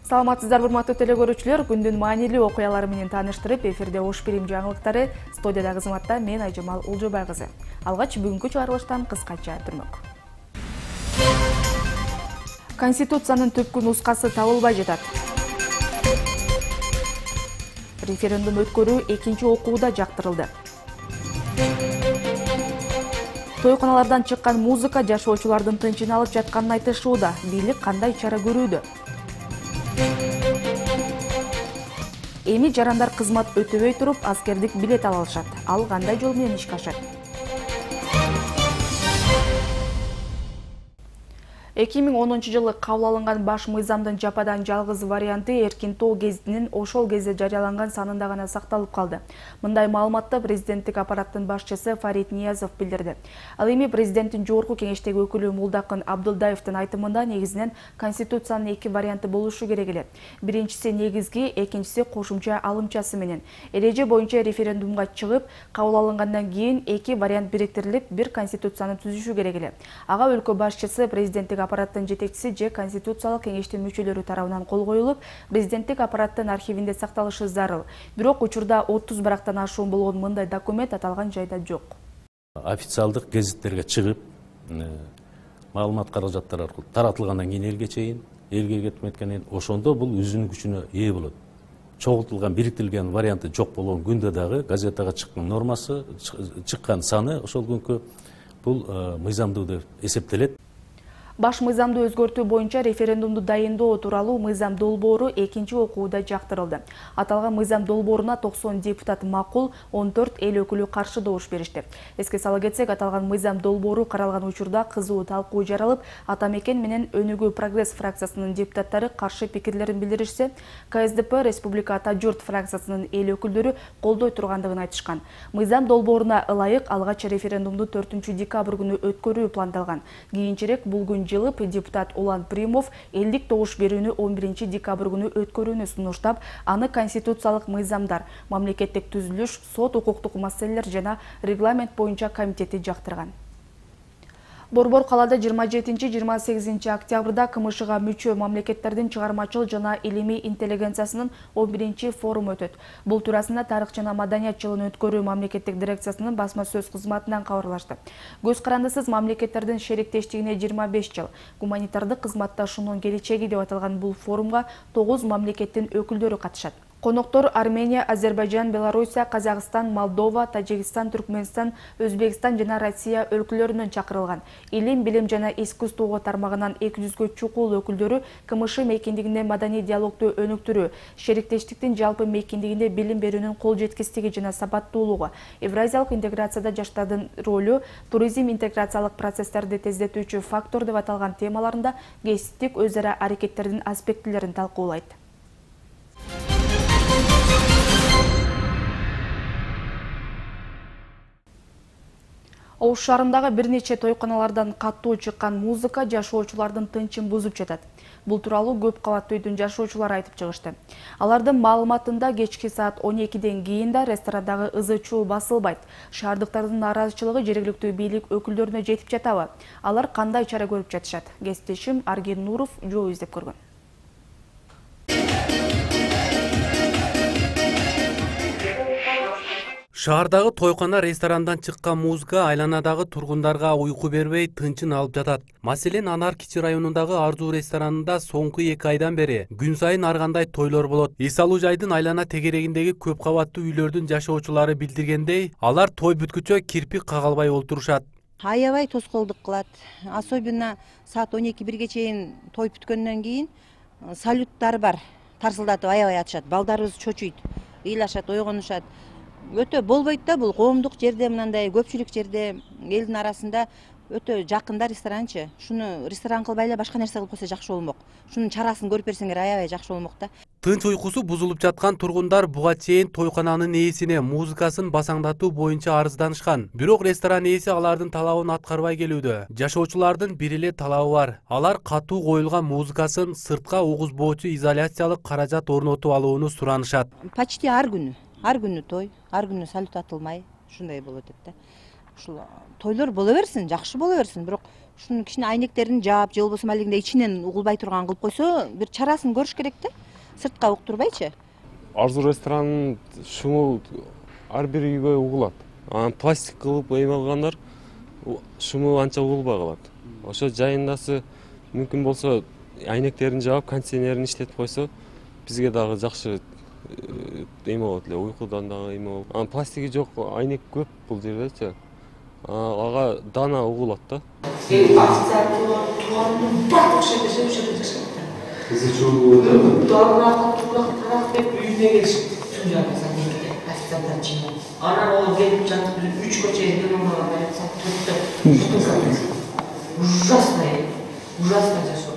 Саламатсыздар, урматтуу телекөрүүчүлөр, күндүн маанилүү окуялары менен тааныштырып, эфирде Ош Билим жаңылыктары, студияда кызматта мен Айжамал Улжубай кызы. Алгач бүгүнкү чыгарылыштан кыскача түрмөк. Конституциянын түпкү нускасы табылбай жатат. Референдум өткөрүү экинчи окууда жактырылды. Тойканалардан чыккан музыка жашоочулардын тынчын алып жатканын айтышууда. Бийлик кандай чара көрүүдө? Эми жарандар кызмат өтөбөй туруп аскердик билет ала алышат. Ал кандай жол менен ишке ашат? 2010 жылы кабыл алынган баш мыйзамдын жападан жалгыз варианты Эркин Тоо гезитинин ошол кезде жарыяланган санында гана сакталып калды. Мындай маалыматты президенттик аппараттын башчысы Фарид Ниязов билдирди. Ал эми президенттин жогорку кеңештеги өкүлү Мулдакын Абдылдаевдин айтымында негизинен конституциянын эки варианты болушу керек эле. Биринчиси негизги, экинчиси кошумча алымчасы менен. Эреже боюнча референдумга чыгып, кабыл алынгандан кийин эки вариант бириктирилип, бир конституцияны түзүшү керек эле. Ага өлкө башчысы, президенттик аппараттын жетекчиси же конституциялык кеңештин мүчөлөрү тарабынан кол коюлуп, президенттик аппараттын архивинде сакталышы зарыл. Бирок учурда 30 барактан ашуун болгон мындай документ аталган жайда жок. Официалдык гезиттерге чыгып, маалымат каражаттары аркылуу таратылгандан кийин элге чейин, элге кетмекенден кийин ошондо бул өзүнүн күчүнө ээ болот. Чогултулган, бириктирилген варианты жок болгон күндө дагы газетага чыккан нормасы, чыккан саны ошол күнкү бул мыйзамдуу деп эсептелет. Баш мыйзамды өзгөртүү боюнча референдумду дайындоо тууралуу мыйзам долбоору экинчи окууда жактырылды. Аталган мыйзам долбооруна 90 депутат макул, 14 эл өкүлү каршы добуш беришти. Эске сала кетсек, аталган мыйзам долбоору каралган учурда кызуу талкуу жаралып, Ата Мекен менен Өнүгүү Прогресс фракциясынын депутаттары каршы пикирлерин билдиришсе, КСДП Республика Ата Журт фракциясынын эл өкүлдөрү колдой тургандыгын айтышкан. Мыйзам долбооруна ылайык алгач референдумду 4 декабрь күнү өткөрүү пландалган. Кийинчерээк бул күн жылып, депутат Улан Примов элдик добуш берүүнү 11 декабрь күнү өткөрүүнү сунуштап, аны конституциялык мыйзамдар, мамлекеттик түзүлүш, сот укуктук маселелер жана регламент боюнча комитети жактырган. Борбор калаада 27-28 октябрда КМШга мүчө мамлекеттердин чыгармачыл жана илимий интеллигенциясынын 11 форуму өтөт. Бул туурасында Тарых жана маданият жылын өткөрүү мамлекеттик дирекциясынын басма сөз кызматынан кабарлашты. Көз карандысыз мамлекеттердин шериктештигине 25 жыл, гуманитардык кызматташуунун келечеги деп аталган бул форумга 9 мамлекеттин өкүлдөрү катышат. Коноктор Армения, Азербайжан, Белоруссия, Казакстан, Молдова, Тажикстан, Түркменстан, Өзбекстан жана Россия өлкөлөрүнөн чакырылган. Илим, билим жана искусство тармагынан 200гө чукул өкүлдөрү КМШ мейкиндигинде маданий диалогду өнүктүрүү, шериктештиктин жалпы мейкиндигинде билим берүүнүн кол жеткичтиги жана сапаттуулугу, евразиялык интеграцияда жаштардын ролу, туризм интеграциялык процесстерди тездетүүчү фактор деп аталган темаларында кесиптик өз ара аракеттердин аспектилерин талкуулайт. Ош шаарындагы бир нече тойканалардан каттуу чыккан музыка жашоочулардын тынчын бузуп жатат. Бул тууралуу көп кабаттуу үйдүн жашоочулары айтып чыгышты. Алардын маалыматында кечки саат 12ден кийин да ресторандагы ызы-чуу басылбайт. Шаардыктардын нааразычылыгы жергиликтүү бийлик өкүлдөрүнө жетип жатабы? Алар кандай чара көрүп жатышат? Кесиптешим Арген Нуров жол издеп көргөн. Шаардагы тойкана ресторандан чыккан музыка айланадагы тургундарга уйку бербей тынчын алып жатат. Маселен, Анар Кичи районундагы Арзуу ресторанында соңку 2 айдан бери күн сайын ар кандай тойлор болот. Эс алуу жайдын айлана тегерегиндеги көп кабаттуу үйлөрдүн жашоочулары билдиргендей, алар той бүткүчө кирпик кага албай олтурушат. Аябай тоскоолдук кылат. Особенно саат 12-1ге чейин той бүткөндөн кийин салюттар бар. Тарсылдатып аябай атышат. Балдарыбыз чочуйт, ыйлашат, ойгонушат. Өтө болбойт да, бул коомдук жерде, мындай көпчүлүк жерде, элдин арасында өтө жакында ресторанчы. Шуну ресторан кылбай эле башка нерсе кылып койсо жакшы болмок. Шунун чарасын көрүп берсеңер аябай жакшы болмок да. Тынч уйкусу бузулуп жаткан тургундар буга чейин тойкананын ээсине музыкасын басаңдатуу боюнча арызданышкан. Бирок ресторан ээси алардын талабын аткарбай келүүдө. Жашоочулардын бир эле талабы бар. Алар катуу коюлган музыкасын сыртка угузбоочу изоляциялык каражат орнотуп алууну суранышат. Почти ар күнү той, ар күнү салют атылмай, ушундай болуп атат да. Ушул тойлор боло берсин, жакшы боло берсин, бирок ушунун кичине айнектерин жаап же болбосо алигиндей ичинен угулбай турган кылып койсо бир чарасын көрүш керек да, сыртка уктурбайчы. Арзу ресторанынын шуму ар бир үйгө угулат. Анан пластик кылып эме алгандар шуму анча угулбай калат. Ошо жайындасы мүмкүн болсо айнектерин жаап, кондиционерин иштетип койсо, бизге дагы жакшы эме болот эле, уйкудан дагы эме болот. Анан пластиги жок айнек көп бул жердечи. Ага дана угулат да. Анан ол келип жатып 3 чейин ужасно жашоо.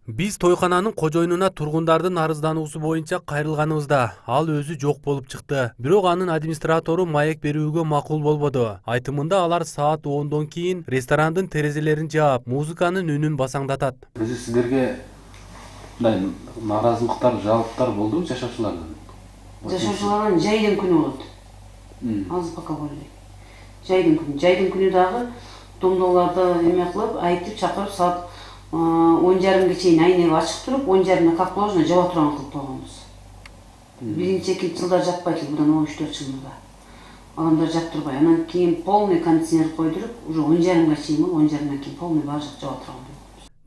Биз тойкананын кожоюнуна тургундардын арыздануусу боюнча кайрылганыбызда ал өзү жок болуп чыкты. Бирок анын администратору маек берүүгө макул болбоду. Айтымында алар саат 10дон кийин ресторандын терезелерин жаап, музыканын үнүн басаңдатат. Өзү сиздерге мындай нааразылыктар, жалоптор болдубу жашоочулардан? Жашоочулардан жайдын күнү болот. Азыр пока болбойт. Жайдын күнү дагы домдолорду эме кылып, айтып чакырып саат 10:30 чейин айнек ачык туруп, 10:30 как положено жаба турган кылып койгонбуз. Биринчи, экинчи жылдар жаппайт, мындан 13-4 жылда. Адамдар жаптырбай, анан кийин полный кондиционер койдуруп, уже 10:30 чейин, 10:30 кийин полный баары жак жаба турган.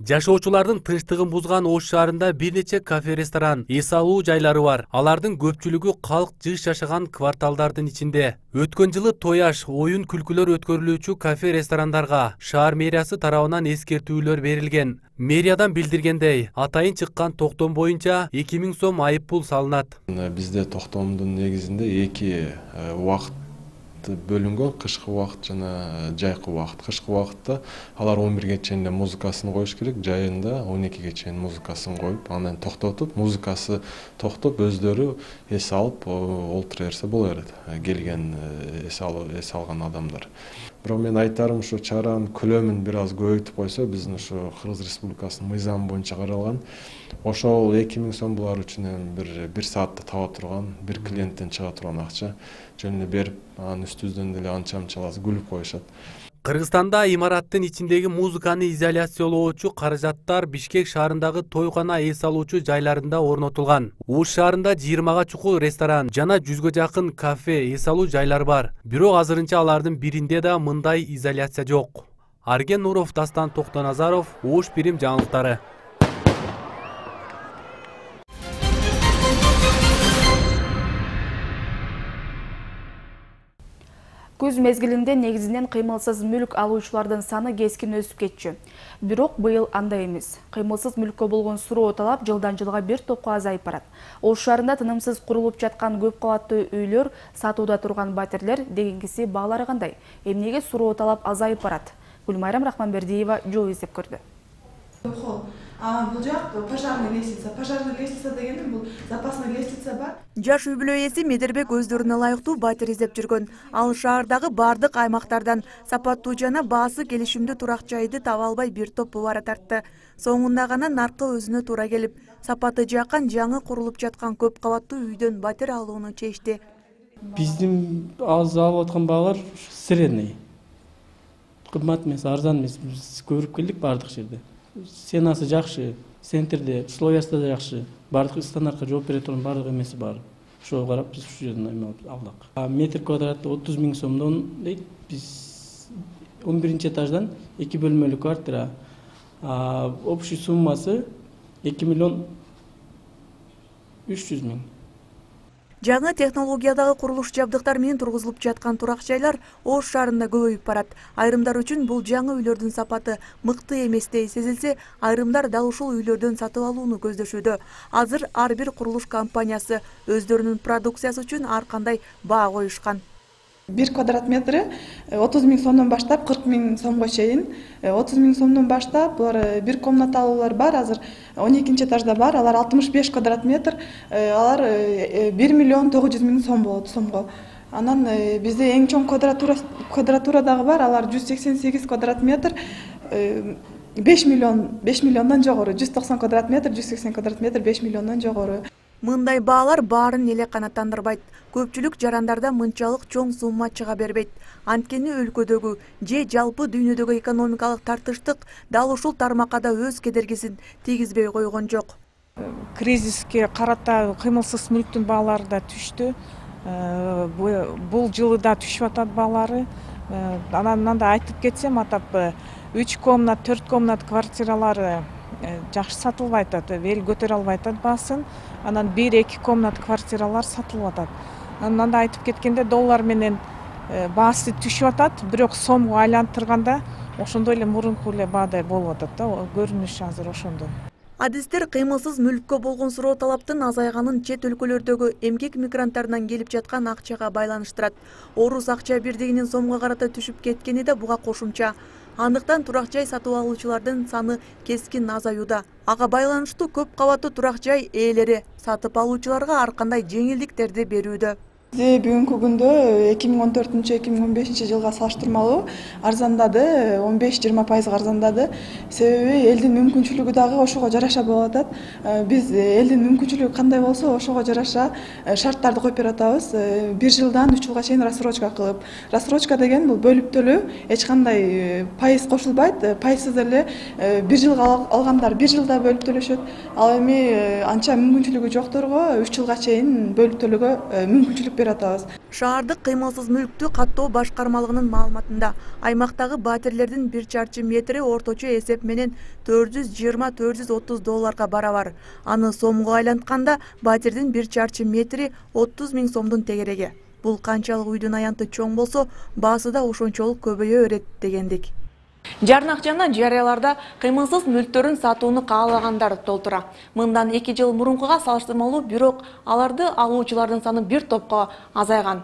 Жашоочулардын тынчтыгын бузган Ош шаарында бир нече кафе-ресторан, эс алуу жайлары бар. Алардын көпчүлүгү калк жыш жашаган кварталдардын ичинде. Өткөн жылы тояш, оюн күлкүлөр өткөрүлүүчү кафе-ресторандарга шаар мэриясы тарабынан эскертүүлөр берилген. Мэриядан билдиргендей, атайын чыккан токтом боюнча 2000 сом айып пул салынат. Бизде токтомдун негизинде 2 убакыт бөлүнгөн, кышкы убакыт жана жайкы убакыт. Кышкы убакытта алар 11ге чейин музыкасын коюш керек, жайында 12ге чейин музыкасын коюп, анан токтотуп, музыкасы токтоп, өздөрү эс алып олтура берсе боло берет. Келген эс алган адамдар. Бирок мен айтарым, ушу чаранын көлөмүн бир аз көбөйтүп койсо, биздин ушу Кыргыз Республикасынын мыйзамы боюнча каралган. Ошол 2000 сом булар үчүн бир саатта таба турган, бир клиенттен чыга турган акча жөн эле берип, анын үстүбүздөн деле анча-мынчаласы күлүп коюшат. Кыргызстанда имараттын ичиндеги музыканы изоляциялоочу каражаттар Бишкек шаарындагы тойкана эс алуучу жайларында орнотулган. Ош шаарында 20га чукул ресторан жана 100гө жакын кафе, эс алуу жайлар бар. Бирок азырынча алардын биринде да мындай изоляция жок. Арген Нуров, Дастан Токтоназаров, Ош Бирим жаңылыктары. Күз мезгилинде негизинен кыймылсыз мүлк алуучулардын саны кескин өсүп кетчү. Бирок быйыл андай эмес. Кыймылсыз мүлккө болгон суроо талап жылдан жылга бир топко азайып барат. Ош шаарында тынымсыз курулуп жаткан көп кабаттуу үйлөр, сатууда турган батирлер дегенгиси баалары кандай? Эмнеге суроо талап азайып барат? Гүлмайрам Рахманбердиева жол издеп көрдү. Бул жак пожарный лестница. Пожарный лестница дегенде бул запасный лестница бар. Жаш үй бүлө ээси Медербек өздөрүнө ылайыктуу батир издеп жүргөн. Ал шаардагы бардык аймактардан сапаттуу жана баасы келишимдүү турак жайды таба албай бир топ бубара тартты. Соңунда гана наркы өзүнө туура келип, сапаты жаккан жаңы курулуп жаткан көп кабаттуу үйдөн батир алууну чечти. Биздин азыр алып аткан баалар средний. Кымбат эмес, арзан эмес. Биз көрүп келдик бардык жерде. Сенасы жакшы, центрде, условиясы да жакшы. Бардык стандартка жооп бере турган бардык эмеси бар. Ошого карап биз ушул жерден эме алдык. Метр квадраты 30 000 сомдон дейт. Биз 11-чи этаждан 2 бөлмөлүү квартира. Общий суммасы 2 миллион 300 000. Жаңы технологиядагы курулуш жабдыктар менен тургузулуп жаткан турак жайлар Ош шаарында көбөйүп барат. Айрымдар үчүн бул жаңы үйлөрдүн сапаты мыкты эместей сезилсе, айрымдар дал ушул үйлөрдөн сатып алууну көздөшүүдө. Азыр ар бир курулуш компаниясы өздөрүнүн продукциясы үчүн ар кандай баа коюшкан. 1 квадрат метри 30 000 сомдон баштап 40 000 сомго чейин. 30 000 сомдон баштап булар бир комнаталуулар бар, азыр 12-чи этажда бар, алар 65 квадрат метр, алар 1 миллион 900 000 сом болот сомго. Анан бизде эң чоң квадратура дагы бар, алар 188 квадрат метр, 5 миллиондон жогору, 190 квадрат метр, 180 квадрат метр 5 миллиондон жогору. Мындай баалар баарын эле канааттандырбайт. Көпчүлүк жарандарда мынчалык чоң сумма чыга бербейт. Анткени өлкөдөгү же жалпы дүйнөдөгү экономикалык тартыштык дал ушул тармакка да өз кедергисин тийгизбей койгон жок. Кризиске карата кыймылсыз мүлктүн баалары да түштү. Бул жылы да түшүп атат баалары. Анан да айтып кетсем, атап 3 комнат, 4 комнат квартиралары жакшы сатылбай атат, эл көтөрө албай атат баасын. Анан 1-2 комнат квартиралар сатылып атат. Анан да айтып кеткенде доллар менен баасы түшүп атат, бирок сомго айлантырганда ошондой эле мурунку эле баадай болуп атат да, көрүнүш азыр ошондой. Адистер кыймылсыз мүлккө болгон суроо талаптын азайганын чет өлкөлөрдөгү эмгек мигранттарынан келип жаткан акчага байланыштырат. Орус акча бирдигинин сомго карата түшүп кеткени да буга кошумча. Андыктан турак жай сатып алуучулардын саны кескин азаюуда. Ага байланыштуу көп кабаттуу турак жай ээлери сатып алуучуларга ар кандай жеңилдиктерди берүүдө. Бүгүнкү күндө 2014-2015 жылга салыштырмалуу арзандады, 15-20% арзандады. Себеби элдин мүмкүнчүлүгү дагы ошого жараша болуп атат. Биз элдин мүмкүнчүлүгү кандай болсо, ошого жараша шарттарды коюп берип атабыз. 1 жылдан 3 жылга чейин рассрочка кылып. Рассрочка деген бул бөлүп төлөө, эч кандай пайыз кошулбайт. Пайызсыз эле 1 жылга алгандар 1 жылда бөлүп төлөшөт. Ал эми анча мүмкүнчүлүгү жокторго 3 жылга чейин бөлүп төлөөгө мүмкүнчүлүк Шаардык кыймылсыз мүлктү каттоо башкармалыгынын маалыматында аймактагы батирлердин 1 чарчы метри орточо эсеп менен $420–430 долларга барабар. Аны сомго айлантканда батирдин 1 чарчы метри 30 000 сомдун тегереги. Бул канчалык үйдүн аянты чоң болсо, баасы да ошончолук көбөйө берет дегендик. Жарнак жана жарыяларда кыймылсыз мүлктөрүн сатууну каалагандар толтура. Мындан 2 жыл мурункуга салыштырмалуу, бирок аларды алуучулардын саны бир топко азайган.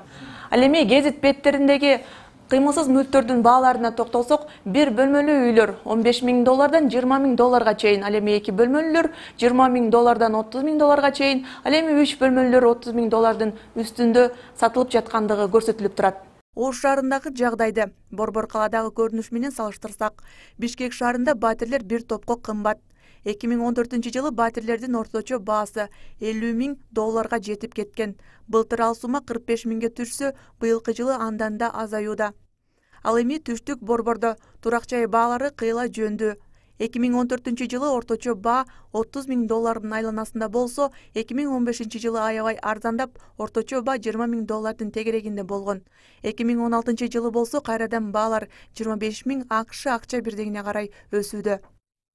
Ал эми гезит беттериндеги кыймылсыз мүлктөрдүн бааларына токтолсок, 1 бөлмөлүү үйлөр $15 000 $20 000 чейин, ал эми 2 бөлмөлүүлөр $20 000 $30 000 чейин, ал эми 3 бөлмөлүүлөр $30 000 үстүндө сатылып жаткандыгы көрсөтүлүп турат. Ош шаарындагы жагдайды Борбор каладагы көрүнүш менен салыштырсак, Бишкек шаарында батирлер бир топко кымбат. 2014 жылы батирлердин орточо баасы $50 000 жетип кеткен. Былтыр ал сума 45 000ге түшсө, быйылкы жылы андан да азаюуда. Ал эми түштүк Борбордо турак жай баалары кыйла жөндү. 2014 жылы орточо баа $30 000 айланасында болсо, 2015 жылы аябай арзандап, орточо баа $20 000 тегерегинде болгон. 2016 жылы болсо, кайрадан баалар 25 000 АКШ акча бирдигине карай өсүүдө.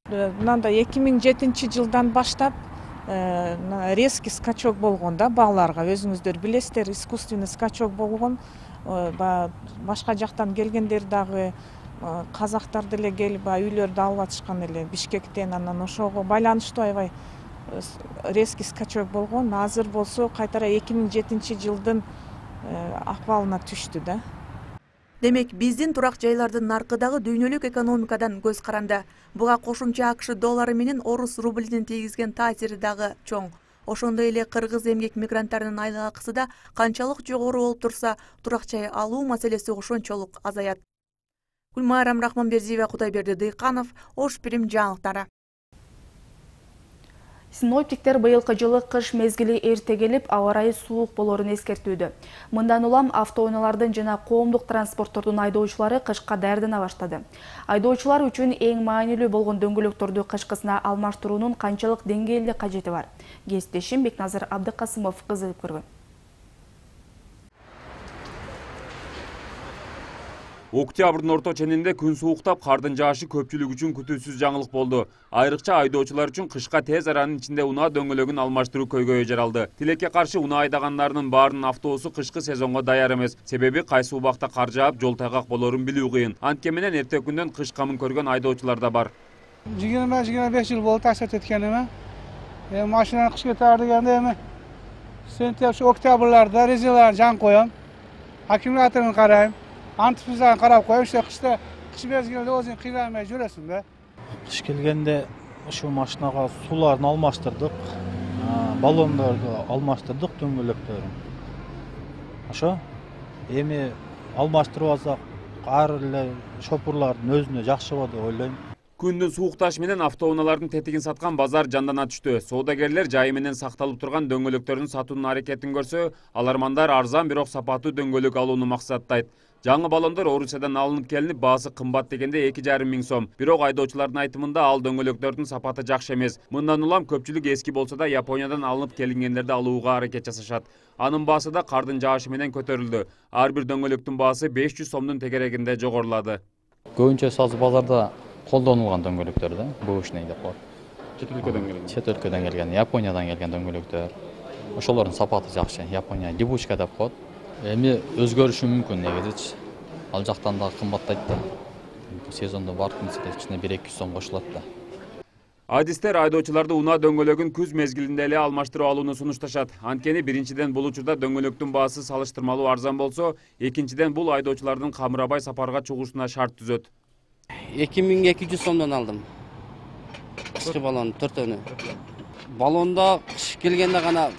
Мында 2007 жылдан баштап резкий скачок болгон да бааларга. Өзүңүздөр билесиздер, искусственный скачок болгон. Башка жактан келгендер дагы казактар деле келип үйлөрдү алып атышкан эле Бишкектен, анан ошого байланыштуу аябай резкий скачок болгон. Азыр болсо кайтара 2007 жылдын акыбалына түштү да. Демек, биздин турак жайлардын наркы дагы дүйнөлүк экономикадан көз каранды. Буга кошумча АКШ доллары менен орус рублинин тийгизген таасири дагы чоң. Ошондой эле кыргыз эмгек мигранттарынын айлык акысы да канчалык жогору болуп турса, турак жай алуу маселеси ошончолук азаят. Гүлмайрам Рахманбердиева, Кудайберди Дыйканов, Ош Пирим жаңылыктары. Синоптиктер быйылкы жылы кыш мезгили эрте келип, аба ырайы суук болорун эскертүүдө. Мындан улам автоунаалардын жана коомдук транспорттордун айдоочулары кышка даярдана баштады. Айдоочулар үчүн эң маанилүү болгон дөңгөлөктөрдү кышкысына алмаштыруунун канчалык деңгээлде кажети бар? Кесиптешим Бекназыр Абдыкасымов кызыгып көргөн. Октябрдын орто ченинде күн сууктап, кардын жаашы көпчүлүк үчүн күтүүсүз жаңылык болду. Айрыкча айдоочулар үчүн кышка тез аранын ичинде унаа дөңгөлөгүн алмаштыруу көйгөйү жаралды. Тилекке каршы унаа айдагандарынын баарынын автобусу кышкы сезонго даяр эмес. Себеби кайсы убакта кар жаап, жол тайгак болорун билүү кыйын. Антке менен эртең күндөн кыш камын көргөн айдоочулар да бар. 25 жыл болду ташат эткениме. Машинаны кышка таар дегенде эми сентябрь, октябрларда резиналар жан коем. Аккумуляторун карайм. Антифризан карап коюп, кышта кыш мезгилинде өзүң кыйнамай жүрөсүң да. Кыш келгенде ушул машинага сууларын алмаштырдык, баллондорду алмаштырдык, дөңгөлөктөрүн. Ошо эми алмаштырып алсак, ар эле шопурлардын өзүнө жакшы болот деп ойлойм. Күндүн суукташы менен автоунаалардын тетигин саткан базар жандана түштү. Соодагерлер жайы менен сакталып турган дөңгөлөктөрдүн сатуунун аракетин көрсө, алармандар арзан бирок сапаттуу дөңгөлөк алууну максаттайт. Жаңы баллондор Орусиядан алынып келинип, баасы кымбат дегенде 2,5 миң сом. Бирок айдоочулардын айтымында ал дөңгөлөктөрдүн сапаты жакшы эмес. Мындан улам көпчүлүк эски болсо да Япониядан алынып келингендерди алууга аракет жасашат. Анын баасы да кардын жаашы менен көтөрүлдү. Ар бир дөңгөлөктүн баасы 500 сомдун тегерегинде жогорулады. Көбүнчө сазы базарда колдонулган дөңгөлөктөр да, бушный деп коет. Чет өлкөдөн келген. Чет өлкөдөн келген, Япониядан келген дөңгөлөктөр. Ошолордун сапаты жакшы. Япония дибучка деп коет. Эми өзгөрүшү мүмкүн негизичи. Ал жактан да кымбаттайт да. Сезондо бардын ичине 1-200 сом кошулат да. Адистер айдоочуларды унаа дөңгөлөгүн күз мезгилинде эле алмаштырып алууну сунушташат. Анткени биринчиден бул учурда дөңгөлөктүн баасы салыштырмалуу арзан болсо, экинчиден бул айдоочулардын камырабай сапарга чыгуусуна шарт түзөт. 2200 сомдон алдым. Кышкы баллон 4-өнү. Баллондо кыш келгенде гана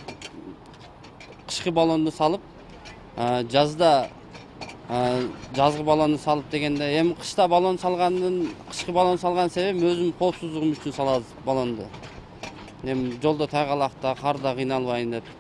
кышкы баллонду салып, жазда жазгы баллонду салып дегенде, эми кышта баллон салгандын, кышкы баллон салган себебим өзүм коопсуздугум үчүн салабыз баллонду. Эми жолдо тайгалакта, карда кыйналбайын деп.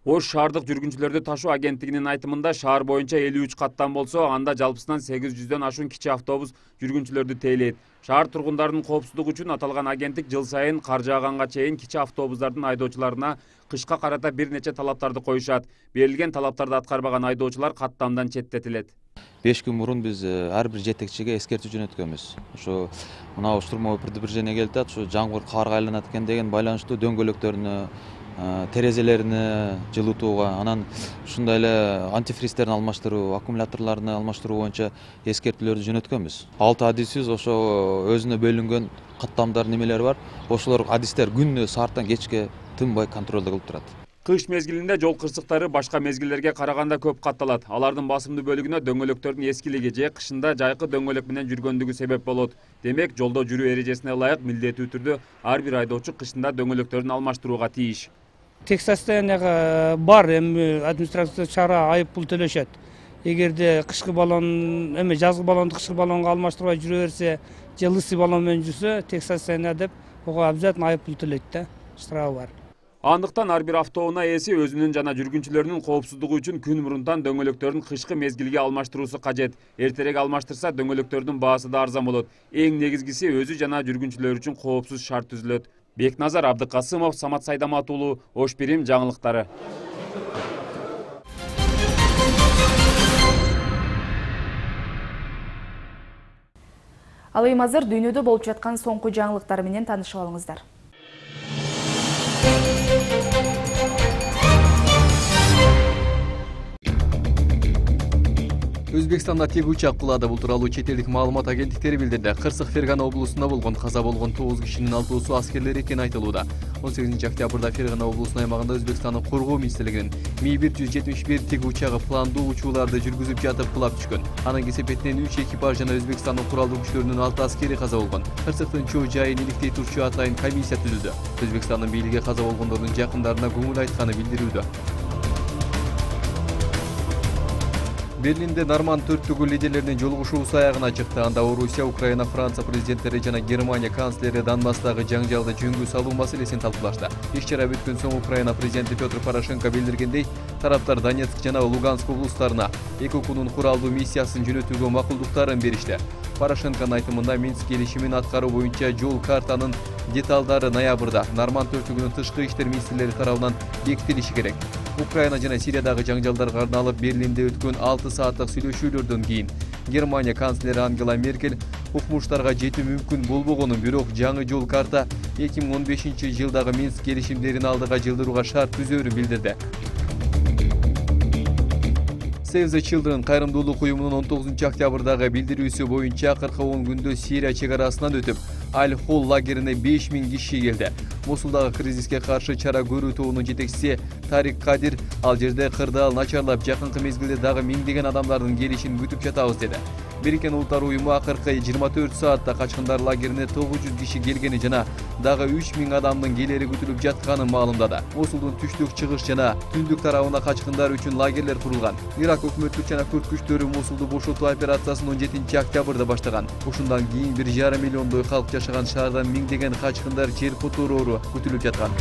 Ош шаардык жүргүнчүлөрдү ташуу агенттигинин айтымында шаар боюнча 53 каттан болсо, анда жалпысынан 800дөн ашуун кичи автобус жүргүнчүлөрдү тейлейт. Шаар тургундарынын коопсуздугу үчүн аталган агенттик жыл сайын кар жааганга чейин кичи автобустардын айдоочуларына кышка карата бир нече талаптарды коюшат. Берилген талаптарды аткарбаган айдоочулар каттамдан четтетилет. 5 күн мурун биз ар бир жетекчиге эскертүү жөнөткөнбүз. Ошо мына штурмовой предупреждение келип атат, ошо жамгыр карга айланат экен деген байланыштуу дөңгөлөктөрүнө, терезелерине жылытууга, анан ушундай эле антифристтерин алмаштыруу, аккумуляторлорун алмаштыруу боюнча эскертүүлөрдү жөнөткөнбүз. 6 адисибиз ошо өзүнө бөлүнгөн каттамдар немелери бар. Ошолор адистер күнүнө сааттан кечке тынбай контролдо кылып турат. Кыш мезгилинде жол кырсыктары башка мезгилдерге караганда көп катталат. Алардын басымдуу бөлүгүнө дөңгөлөктөрдүн эскилиги же кышында жайкы дөңгөлөк менен жүргөндүгү себеп болот. Демек, жолдо жүрүү эрежесине ылайык милдеттүү түрдө ар бир айдоочу кышында дөңгөлөктөрүн алмаштырууга тийиш. Тек состоянияга бар, эми администрация чара айып пул төлөшөт. Эгерде кышкы баллон, эми жазгы баллонду кышкы баллонго алмаштырбай жүрө берсе, же лысый баллон менен жүрсө, тек состояние деп ого обязательно айып пул төлөйт да, штрафы бар. Андыктан ар бир автоунаа ээси өзүнүн жана жүргүнчүлөрүнүн коопсуздугу үчүн күн мурунтан дөңгөлөктөрүн кышкы мезгилге алмаштыруусу кажет. Эртерээк алмаштырса, дөңгөлөктөрдүн баасы да арзан болот. Эң негизгиси өзү жана жүргүнчүлөр үчүн коопсуз шарт түзүлөт. Бекназар Абдыкасымов, Самат Сайдамат уулу, Ош Бирим жаңылыктары. Ал эми азыр дүйнөдө болуп жаткан соңку жаңылыктар менен таанышып алыңыздар. Өзбекстанда теги учак кулады. Бул тууралуу чет элдик маалымат агенттиктери билдирди. Кырсык Фергана облусунда болгон каза болгон 9 кишинин 6-сы аскерлер экени айтылууда. 18 октябрда Фергана облусунун аймагында Өзбекстандын коргоо министрлигинин Ми-171 теги учагы пландуу учууларды жүргүзүп жатып кулап түшкөн. Анын кесепетинен 3 экипаж жана Өзбекстандын куралдуу күчтөрүнүн 6 аскери каза болгон. Кырсыктын чоо жайын иликтей турчу атайын комиссия түзүлдү. Өзбекстандын бийлиги каза болгондордун жакындарына көңүл айтканы билдирүүдө. Берлинде Норманд төрттүгү лидерлеринин жолугушуусу аягына чыкты. Анда Орусия, Украина, Франция президенттери жана Германия канцлери Донбасстагы жаңжалды жөнгө салуу маселесин талкуулашты. Иш-чара бүткөн соң Украина президенти Петр Порошенко билдиргендей, тараптар Донецк жана Луганск облустарына ЭКОКунун куралдуу миссиясын жөнөтүүгө макулдуктарын беришти. Порошенконун айтымында Минск келишимин аткаруу боюнча жол картанын деталдары ноябрда Норманд төрттүгүнүн тышкы иштер министрлери тарабынан бекитилиши керек. Украина жана Сириядагы жаңжалдарга арналып Берлинде өткөн 6 сааттык сүйлөшүүлөрдөн кийин Германия канцлери Ангела Меркель укмуштарга жетүү мүмкүн болбогонун, бирок жаңы жол карта 2015-жылдагы Минск келишимдерин алдыга жылдырууга шарт түзөөрүн билдирди. Save the Children кайрымдуулук уюмунун 19 октябрдагы билдирүүсү боюнча 40 күндө Сирия чек арасынан өтүп, Аль-Хол лагерине 5000 киши келди. Мосулдагы кризиске каршы чара көрүү тобунун жетекчиси Тарик Кадир ал жерде кырдаал начарлап, жакынкы мезгилде дагы миңдеген адамдардын келишин күтүп жатабыз деди. Бириккен Улуттар уюму акыркы 24 саатта качкындар лагерине 900 киши келгени жана дагы 3000 адамдын келери күтүлүп жатканын маалымдады. Мосулдун түштүк, чыгыш жана түндүк тарабына качкындар үчүн лагерлер курулган. Ирак өкмөттүк жана күрд күчтөрү Мосулду бошотуу операциясын 17 октябрда баштаган. Ушундан кийин 1,5 миллиондой калк жашаган шаардан миңдеген качкындар жер котороору күтүлүп жаткан.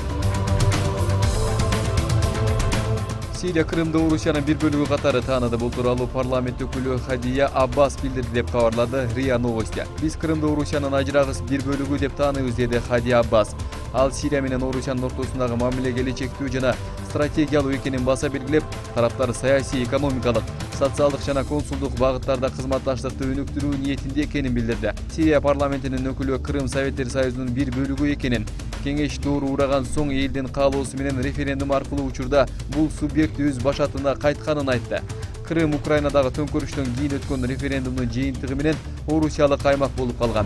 Сирия Крымды Орусиянын бир бөлүгү катары тааныды. Бул тууралуу парламент өкүлү Хадия Аббас билдирди деп кабарлады РИА Новости. Биз Крымды Орусиянын ажырагыс бир бөлүгү деп тааныйбыз, деди Хадия Аббас. Ал Сирия менен Орусиянын ортосундагы мамиле келечектүү жана стратегиялуу экенин баса белгилеп, тараптар саясий, экономикалык, социалдык жана консулдук багыттарда кызматташтыкты өнүктүрүү ниетинде экенин билдирди. Сирия парламентинин өкүлү Крым Советтер Союзунун бир бөлүгү экенин, кеңеш доору ураган соң элдин каалоосу менен референдум аркылуу учурда бул субъект өз башатына кайтканын айтты. Крым Украинадагы төңкөрүштөн кийин өткөн референдумдун жыйынтыгы менен Орусиялык аймак болуп калган.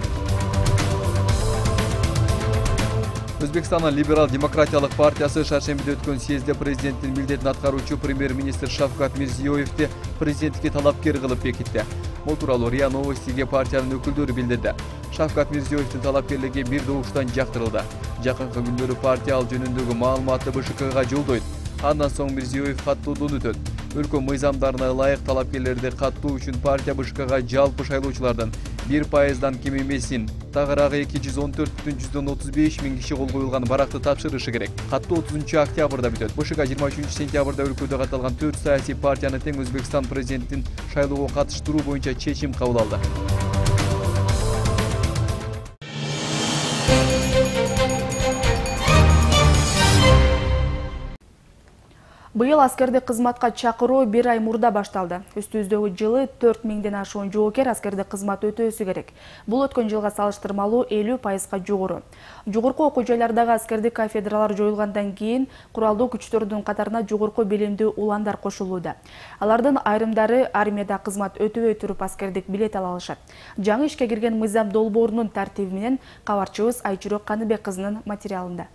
Өзбекстандын либерал-демократиялык партиясы шаршембиде өткөн съезде президенттин милдетин аткаруучу премьер-министр Шавкат Мирзиёевди президенттикке талапкер кылып бекитти. Бул тууралуу РИА Новостиге партиянын өкүлдөрү билдирди. Шавкат Мирзиёевдин талапкерлиги бир добуштан жактырылды. Жакынкы күндөрү партия ал жөнүндөгү маалыматты БШКга жолдойт. Андан соң Мирзиёев каттоодон өтөт. Өлкө мыйзамдарына ылайык талапкерлерди каттоо үчүн партия БШКга жалпы шайлоочулардын 1%дан кем эмесин, тагыраагы 214,135 миң киши кол коюлган баракты тапшырышы керек. Каттоо 30 октябрда бүтөт. БШК 23 сентябрда өлкөдө катталган 4 саясий партияны тең Өзбекстан президентин шайлоого катыштыруу боюнча чечим кабыл алды. Быйыл аскерди кызматка чакыруу 1 ай мурда башталды. Үстүбүздөгү жылы 4000ден ашуун жоокер аскерди кызмат өтөөсү керек. Бул өткөн жылга салыштырмалуу 50%га жогору. Жогорку окуу жайлардагы аскердик кафедралар жоюлгандан кийин куралдуу күчтөрдүн катарына жогорку билимдүү уландар кошулууда. Алардын айрымдары армияда кызмат өтөбөй туруп аскердик билет ала алышат. Жаңы ишке кирген мыйзам долбоорунун тартиби менен кабарчыбыз Айчүрөк Каныбек кызынын материалында.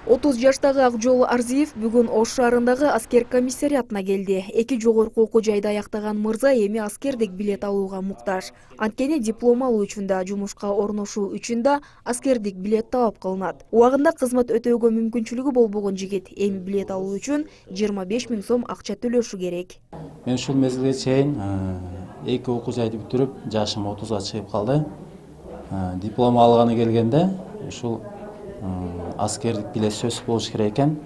30 жаштагы Акжол Арзиев бүгүн Ош шаарындагы аскер комиссариатына келди. Эки жогорку окуу жайды аяктаган мырза эми аскердик билет алууга муктаж. Анткени диплом алуу үчүн да, жумушка орношуу үчүн да аскердик билет талап кылынат. Убагында кызмат өтөөгө мүмкүнчүлүгү болбогон жигит эми билет алуу үчүн 25 000 сом акча төлөшү керек. Мен ушул мезгилге чейин эки окуу жайды бүтүрүп, жашым 30га чыгып калды. Диплом алганы келгенде ушул аскердик билет сөзсүз болуш керек экен.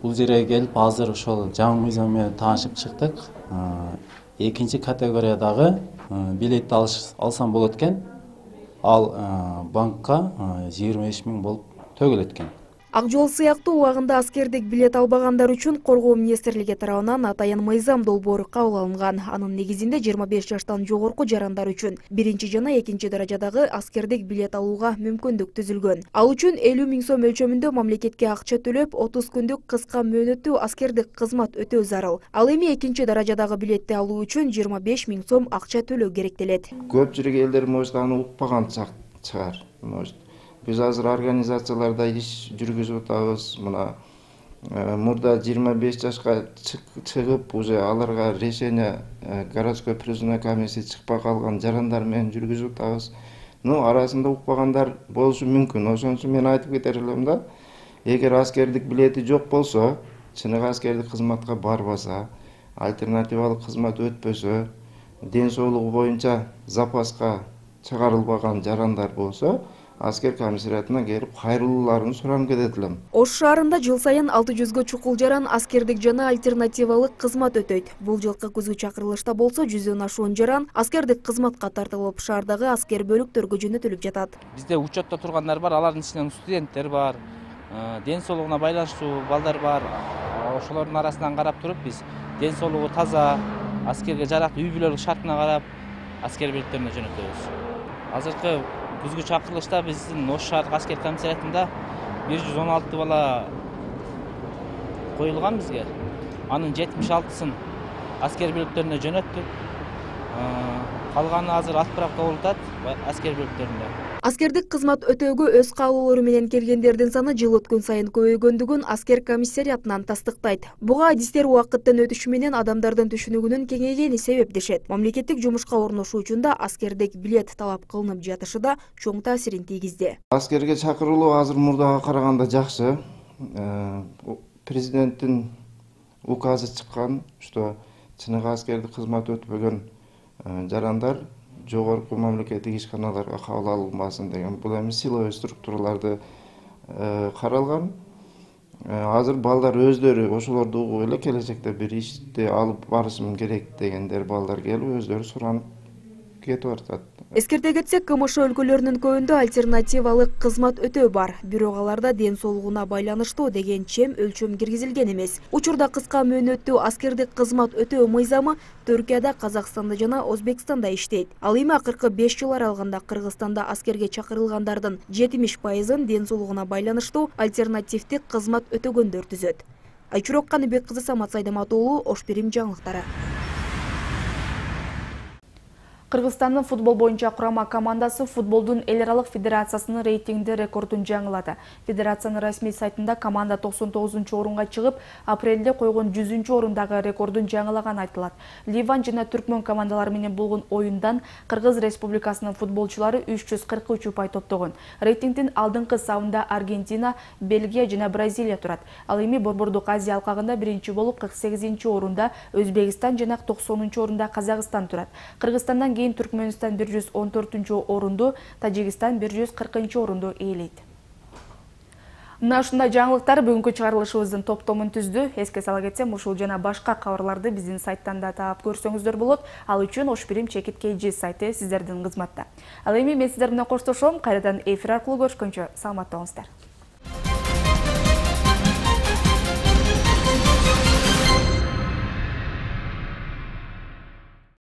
Бул жерге келип азыр ошол жаңы мыйзам менен таанышып чыктык. Экинчи категориядагы билетти алсам болот экен. Ал банкка 25 000 болуп төгүлөт экен. Акжол сыяктуу убагында аскердик билет албагандар үчүн Коргоо министрлиги тарабынан атайын мыйзам долбоору кабыл алынган. Анын негизинде 25 жаштан жогорку жарандар үчүн биринчи жана экинчи даражадагы аскердик билет алууга мүмкүндүк түзүлгөн. Ал үчүн 50 000 сом өлчөмүндө мамлекетке акча төлөп, 30 күндүк кыска мөөнөттүү аскердик кызмат өтөө зарыл. Ал эми экинчи даражадагы билетти алуу үчүн 25 000 сом акча төлөө керектелет. Көпчүлүк элдер может аны укпаган чыгар. Биз азыр организацияларда иш жүргүзүп атабыз. Мына мурда 25 жашка чыгып, уже аларга решение городской призывной комиссия чыкпай калган жарандар менен жүргүзүп атабыз. Арасында укпагандар болушу мүмкүн. Ошон үчүн мен айтып кетер элем да, эгер аскердик билети жок болсо, чыныгы аскердик кызматка барбаса, альтернативалык кызмат өтпөсө, ден соолугу боюнча запаска чыгарылбаган жарандар болсо, аскер комиссариатына келип кайрылууларын суранып кетет элем. Ош шаарында жыл сайын 600гө чукул жаран аскердик жана альтернативалык кызмат өтөйт. Бул жылкы күзгү чакырылышта болсо 100дөн ашуун жаран аскердик кызматка тартылып, шаардагы аскер бөлүктөргө жөнөтүлүп жатат. Бизде учетто тургандар бар, алардын ичинен студенттер бар, ден соолугуна байланыштуу балдар бар. Ошолордун арасынан карап туруп биз ден соолугу таза, аскерге жарактуу үй бүлөлүк шартына карап аскер бөлүктөрүнө жөнөтөбүз. Азыркы күзгү чакырылышта биздин Ош шаардык аскер комиссариатында 116 бала коюлган бизге. Анын 76-сын аскер бөлүктөрүнө жөнөттүк. калганы азыр отправка болуп атат аскер бөлүктөрүндө. Аскердик кызмат өтөөгө өз каалоолору менен келгендердин саны жыл өткөн сайын көбөйгөндүгүн аскер комиссариатынан тастыктайт. Буга адистер убакыттын өтүшү менен адамдардын түшүнүгүнүн кеңейгени себептешет. Мамлекеттик жумушка орношуу үчүн да аскердик билет талап кылынып жатышы да чоң таасирин тийгизди. Аскерге чакырылуу азыр мурдага караганда жакшы. Президенттин указы чыккан, что чыныгы аскердик кызмат өтпөгөн жарандар жогорку мамлекеттик ишканаларга кабыл алынбасын деген. Бул эми силовой структураларды каралган. Азыр балдар өздөрү ошолорду угуп эле келечекте бир ишти алып барышым керек дегендер балдар келип өздөрү суранып кетип атат. Эскерте кетсек, КМШ өлкөлөрүнүн көбүндө альтернативалык кызмат өтөө бар. Бирок аларда ден соолугуна байланыштуу деген чем өлчөм киргизилген эмес. Учурда кыска мөөнөттүү аскердик кызмат өтөө мыйзамы Түркияда, Казакстанда жана Өзбекстанда иштейт. Ал эми акыркы 5 жыл аралыгында Кыргызстанда аскерге чакырылгандардын 70%-ын ден соолугуна байланыштуу альтернативдик кызмат өтөгөндөр түзөт. Айчурок Каныбек кызы, Самат Сайдамат уулу, Ош Бирим жаңылыктары. Кыргызстандын футбол боюнча курама командасы футболдун эл аралык федерациясынын рейтингде рекордун жаңылады. Федерациянын расмий сайтында команда 99-орунга чыгып, апрелде койгон 100-орундагы рекордун жаңылаганы айтылат. Ливан жана Түркмөн командалары менен болгон оюндан Кыргыз Республикасынын футболчулары 343 упай топтогон. Рейтингдин алдыңкы сабында Аргентина, Бельгия жана Бразилия турат. Ал эми Борбордук Азия алкагында биринчи болуп 48-орунда Өзбекстан жана 90-орунда Казакстан турат. Кыргызстандан кийин Түркмөнстан 114-орунду, Тажикстан 140-орунду ээлейт. Мына ушундай жаңылыктар бүгүнкү чыгарылышыбыздын топтомун түздү. Эске сала кетсем, ушул жана башка кабарларды биздин сайттан да таап көрсөңүздөр болот. Ал үчүн Ош Бирим чекит KG сайты сиздердин кызматта. Ал эми мен сиздер менен коштошом. Кайрадан эфир аркылуу көрүшкөнчө саламатта болуңуздар.